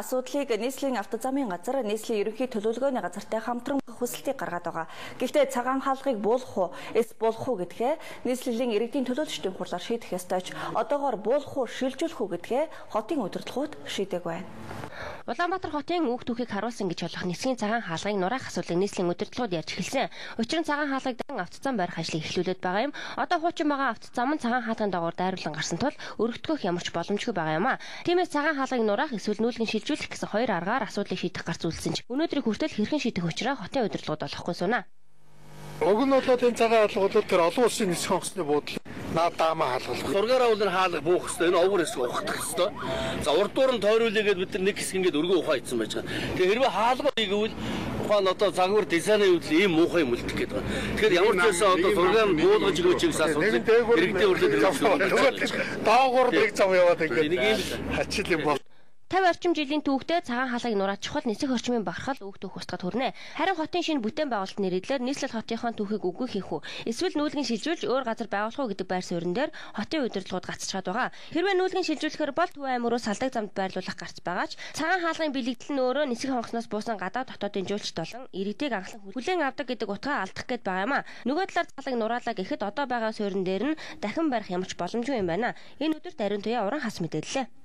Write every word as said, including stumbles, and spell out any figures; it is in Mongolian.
Асуудлыг нийслэлийн автозамын газар нийслэлийн ерөнхий төлөвлөгөөний газартай хамтран хүсэлтийг гаргаад байгаа. Гэхдээ цагаан хаалгыг буулгах уу, эс буулгах уу гэдгээ нийслэлийн иргэдийн төлөөлөгчдийн хурлаар шийдэх ёстойч одоогоор буулгах уу, шилжүүлэх үү гэдгээ хотын удирдлагууд шийдэг байна. Улаанбаатар хотын үг түүхийг харуулсан гэж болох нисхийн цагаан хаалгыг нураах асуудлыг нийслэлийн удирдлагууд ярьж эхэлсэн. Учир нь цагаан хаалгыг дан автозам барих ажлыг эхлүүлээд байгаа юм. Одоо хуучин байгаа автозам нь цагаан хаалгын дагуур дайруулан гарсан тул өргөдгөх ямар ч боломжгүй байгаа юм а. Тиймээс цагаан хаалгыг нураах эсвэл нүүлгэн шилжүүлэх гэсэн хоёр аргаар асуудлыг шийдэх гарц үйлсэн ч өнөөдрийг хүртэл хэрхэн шийдэх учраа хотын удирдлагууд олохгүй сууна. Уг нь бол энэ цагаан хаалгууд тэр олон улсын нисэх онгоцны буудлыг наад даамаа хаалгах. Зургаараа бол хаалга буух хэрэгтэй. Энэ овгор хэсэг ухах хэрэгтэй. За урдуур нь тойруулъя гэд бид нар нэг хэсэг ингээд өргөө ухаа ийдсэн байж байгаа. Тэгээ хэрвээ хаалга ийгэвэл ухаан одоо загвар дизайны үед ийм муухай юм үлдэх гээд байгаа. Тэгэхээр ямар ч байсан одоо зургаар нь буулгаж өгөөч гэсэн асуудал хэрэгтэй үрлээд ирсэн. Доогуур нэг зам яваад ингээд хачил юм бол тавь орчим жилийн түүхтэй цагаан хаалгыг нураад чухал нисэх орчмын бархал үг түүх устгад хүрнэ. Харин хотын шинэ бүтээн байгуулалт нэрийдлэр нийслэл хотынхоо түүхийг үгүй хийх үү? Эсвэл нүүлгэн шилжүүлж өөр газар байгуулах уу гэдэг байр суурин дээр хотын удирдлагууд гацчихад байгаа. Хэрвээ нүүлгэн шилжүүлэхээр бол Төв аймаг руу салдаг замд байрлуулах гарц байгаач цагаан хаалгын бэлэгдэл нь өөрөө нисэх онгоцноос буусан гадаад хотуудын жуулчд болон иргэдийг анхлан хүлээн авдаг гэдэг утгаа алдах гээд байгаа юм а. Нөгөө талаар цалаг нураалаа гэхэд одоо байгаа суурин дээр нь дахин барих ямар ч боломжгүй юм байна. Энэ өдөрт ариун туяа уран хас мэдээллээ.